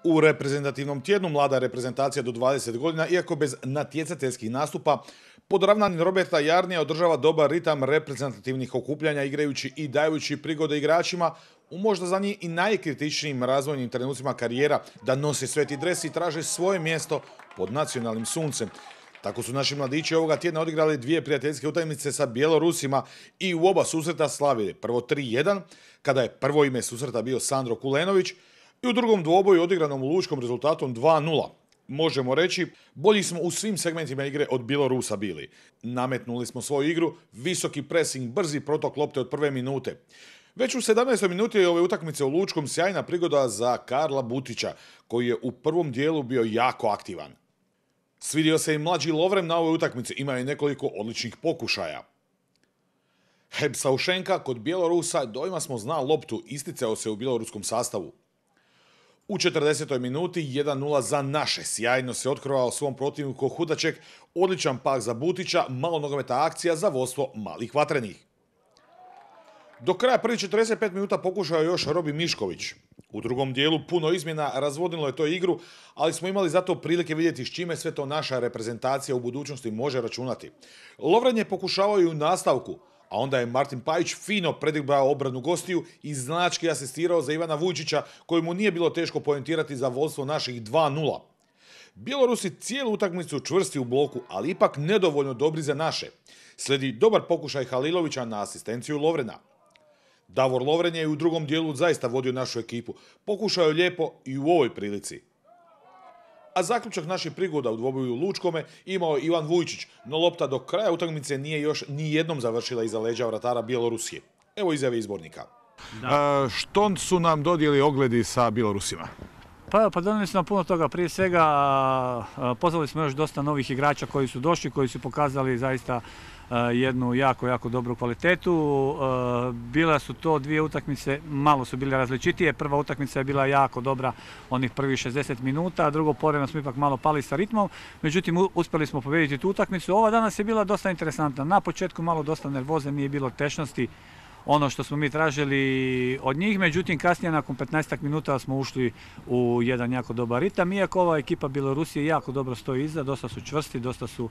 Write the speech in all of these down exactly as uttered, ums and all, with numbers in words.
U reprezentativnom tjednu mlada reprezentacija do dvadeset godina, iako bez natjecateljskih nastupa, podravnani Roberta Jarnija održava dobar ritam reprezentativnih okupljanja igrajući i dajući prigode igračima u možda za njih i najkritičnijim razvojnim trenucima karijera da nose sveti dres i traže svoje mjesto pod nacionalnim suncem. Tako su naši mladići ovoga tjedna odigrali dvije prijateljske utakmice sa Bjelorusima i u oba susreta slavili. Prvo tri jedan, kada je prvo ime susreta bio Sandro Kulenović, i u drugom dvoboju odigranom u Lučkom rezultatom dva nula. Možemo reći, bolji smo u svim segmentima igre od Bjelorusa bili. Nametnuli smo svoju igru, visoki pressing, brzi protok lopte od prve minute. Već u sedamnaestoj minuti ove utakmice u Lučkom sjajna prigoda za Karla Butića, koji je u prvom dijelu bio jako aktivan. Svidio se i mlađi Lovren na ovoj utakmici, ima i nekoliko odličnih pokušaja. Heb Saušenka kod Bjelorusa dojma smo zna loptu, isticao se u bjeloruskom sastavu. U četrdesetoj minuti jedan nula za naše, sjajno se otkrovao svom protivniku Hudaček, odličan pak za Butića, malo nogometa akcija za vodstvo malih vatrenih. Do kraja prvih četrdeset pet minuta pokušao još Robi Mišković. U drugom dijelu puno izmjena razvodnilo je to igru, ali smo imali zato prilike vidjeti s čime sve to naša reprezentacija u budućnosti može računati. Lovren je pokušavao i u nastavku, a onda je Martin Pajić fino predigrao obranu gostiju i znački asistirao za Ivana Vujčića, kojemu nije bilo teško poentirati za vodstvo naših dva nula. Bjelorusi cijelu utakmicu čvrsti u bloku, ali ipak nedovoljno dobri za naše. Slijedi dobar pokušaj Halilovića na asistenciju Lovrena. Davor Lovren je u drugom dijelu zaista vodio našu ekipu. Pokušao je lijepo i u ovoj prilici. A zaključak naših prigoda u dvoboju u Lučkome imao je Ivan Vujčić, no lopta do kraja utakmice nije još ni jednom završila iza leđa vratara Bjelorusije. Evo izjave izbornika. A, što su nam dodijeli ogledi sa Bjelorusima? Pa, pa donijeli su nam puno toga. Prije svega pozvali smo još dosta novih igrača koji su došli, koji su pokazali zaista jednu jako, jako dobru kvalitetu. Bile su to dvije utakmice, malo su bile različitije. Prva utakmica je bila jako dobra, onih prvih šezdeset minuta, a drugo povremeno smo ipak malo pali sa ritmom. Međutim, uspjeli smo pobijediti tu utakmicu. Ova danas je bila dosta interesantna. Na početku malo dosta nervoze, nije bilo tešnosti. Ono što smo mi tražili od njih, međutim kasnije nakon petnaestak minuta smo ušli u jedan jako dobar ritam, iako ova ekipa Bjelorusije jako dobro stoji iza, dosta su čvrsti, dosta su,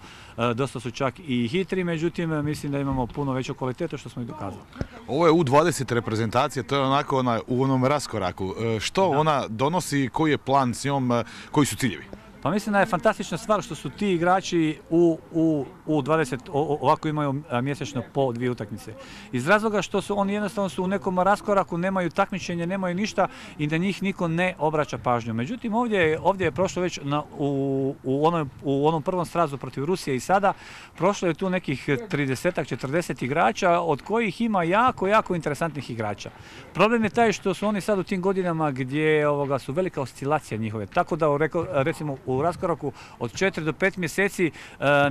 dosta su čak i hitri, međutim mislim da imamo puno veću kvalitetu što smo i dokazali. Ovo je U dvadeset reprezentacija, to je onako ona, u onom raskoraku. Što da. Ona donosi, koji je plan s njom, koji su ciljevi? Pa mislim da je fantastična stvar što su ti igrači u, u, u dvadeset ovako imaju mjesečno po dvije utakmice. Iz razloga što su oni jednostavno su u nekom raskoraku, nemaju takmičenje, nemaju ništa i da njih niko ne obraća pažnju. Međutim, ovdje je, ovdje je prošlo već na, u, u, onom, u onom prvom srazu protiv Rusije i sada prošlo je tu nekih trideset četrdeset igrača, od kojih ima jako, jako interesantnih igrača. Problem je taj što su oni sad u tim godinama gdje ovoga, su velika oscilacija njihove. Tako da recimo u raskoraku od četiri do pet mjeseci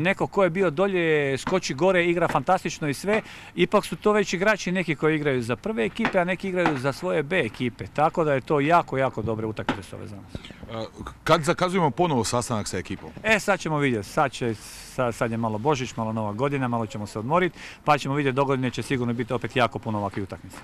neko ko je bio dolje skoči gore, igra fantastično i sve, ipak su to već igrači neki koji igraju za prve ekipe, a neki igraju za svoje B ekipe, tako da je to jako, jako dobre utakmice s ove za nas. Kad zakazujemo ponovo sastanak sa ekipom? E, sad ćemo vidjeti, sad, će, sad, sad je malo Božić, malo Nova godina, malo ćemo se odmoriti, pa ćemo vidjeti, dogodine će sigurno biti opet jako puno ovakvih utakmica.